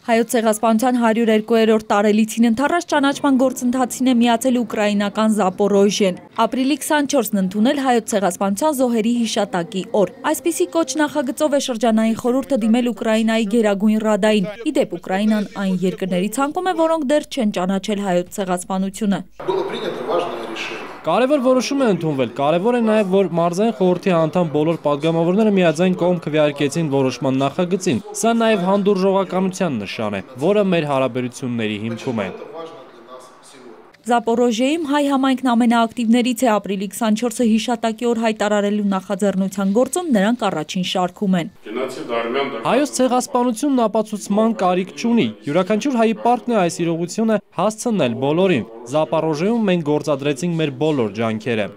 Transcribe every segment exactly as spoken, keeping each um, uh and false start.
Հայոց ցեղասպանության հարյուրերկուերորդ տարելիցին ընթառաջ ճանաչման գործընթացին է միացել ուկրաինական Զապորոժիեն։ Ապրիլի քսանչորսն ընդունել հայոց ցեղասպանության զոհերի հիշատակի օր։ Այսպիսի կոչ նախագծով է շրջանային խորհուրդը դիմել Ուկրաինայի Գերագույն Ռադային։ Ի դեպ, Ուկրաինան այն երկրների ցանկում է, որոնք դեռ չեն ճանաչել հայոց ցեղասպանությունը։ Կարևոր որոշում է ընդունվել, կարևոր է նաև, որ մարզային խորհրդի անդամ բոլոր պատգամավորները միաձայն կողմ քվեարկեցին որոշման նախագծին։ Սա նաև հանդուրժողականության նշան է, որը մեր հարաբերությունների հիմքում է։ Զապորոժիեում հայ համայնքն ամենաակտիվներից է ապրիլի քսանչորսը հիշատակի օր հայտարարելու նախաձեռնության գործում նրանք առաջին շարքում են։ Հայոց ցեղասպանությունն ապացուցման կարիք չունի։ Յուրաքանչյուր հայի պարտքն է այս իրողությունը հասցնել բոլորին։ Զապորոժիեում մենք գործադրեցինք մեր բոլոր ջանքերը։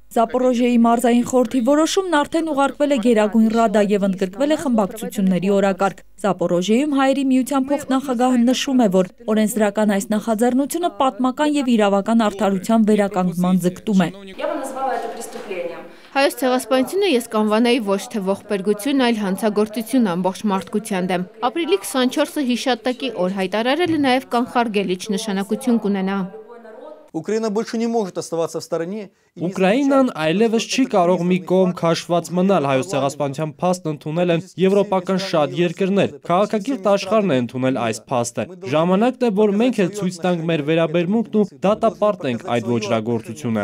Զապորոժիեի մարզային խորհրդի որոշումն արդեն ուղարկվել է Գերագույն Ռադա եւ ընդգրկվել է խմբակցությունների օրակարգ։ Զապորոժիեում հայերի միության փոխնախագահը նշում է, որ օրենսդրական այս նախաձեռնությունը պատմական եւ իրավական արդարության վերականգնման ձգտում է։ Հայոց ցեղասպանությունը ես կանվանեի ոչ թե ողբերգություն, այլ հանցագործություն ամբողջ մարդկության դեմ։ Ապրիլի քսանչորսը հիշատակի օր հայտարարելը նաեւ կանխարգելիչ նշանակություն կունենա։ Ուկրաինա больше не может оставаться в стороне. Ուկրաինան այլևս չի կարող մի կողմ քաշված մնալ, հայոց ցեղասպանության փաստն ընդունել են եվրոպական շատ երկրներ։ Քաղաքակիրթ աշխարհն է ընդունել այս փաստը։ Ժամանակն է, որ մենք էլ ցույց տանք մեր վերաբերմունքն ու դատապարտենք այդ ոճրագործությունը։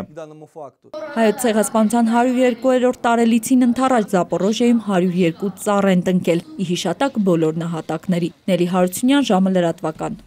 Հայոց ցեղասպանության հարյուրերկուերորդ տարելիցին ընթառաջ Զապորոժիեում հարյուր երկու ծառ են տնկել՝ ի հիշատակ բոլոր նահատակների։ Նելի Հարությունյան, ժամը լրատվական։